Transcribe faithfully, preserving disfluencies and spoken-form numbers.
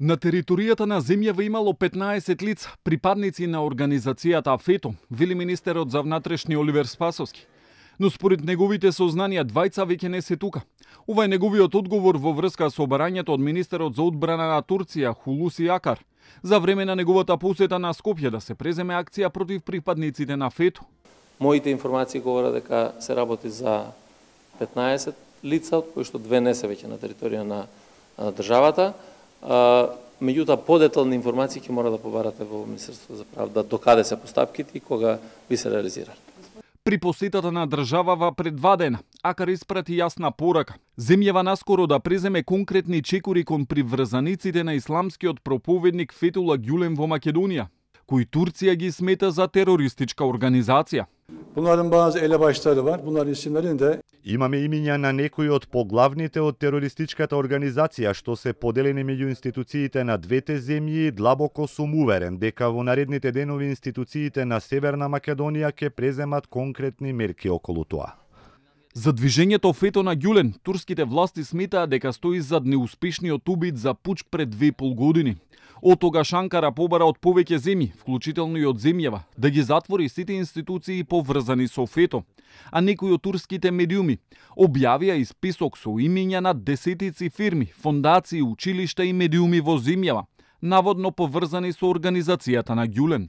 На територијата на земјава имало петнаесет лица, припадници на организацијата ФЕТО, вели министерот за внатрешни Оливер Спасовски. Но според неговите сознанија двајца веќе не се тука. Ова е неговиот одговор во врска со барањето од министерот за одбрана на Турција Хулуси Акар за време на неговата посета на Скопје да се преземе акција против припадниците на ФЕТО. Моите информации говорат дека се работи за петнаесет лица, од кои што две не се веќе на територија на, на државата. Меѓутоа, подетални информации ќе мора да побарате во Министерството за правда докаде се постапките и кога би се реализирали. При посетата на државава пред два дена, Акар испрати јасна порака. Земјава наскоро да преземе конкретни чекори кон приврзаниците на исламскиот проповедник Фетула Гюлен во Македонија, кои Турција ги смета за терористичка организација. Bunların bazı elebaşları var. Bunların isimlerini de Имаме имиња на некои од поглавните од терористичката организација што се поделени меѓу институциите на двете земји. Длабоко сум уверен дека во наредните денови институциите на Северна Македонија ќе преземат конкретни мерки околу тоа. За движењето ФЕТО на Гюлен, турските власти сметаат дека стои зад неуспешниот убит за пуч пред две и пол години. Од тогаш Анкара побара од повеќе земји, вклучително и од земјава, да ги затвори сите институции поврзани со ФЕТО, а некои од турските медиуми објавија и список со имиња на десетици фирми, фондации, училишта и медиуми во земјава, наводно поврзани со организацијата на Гюлен.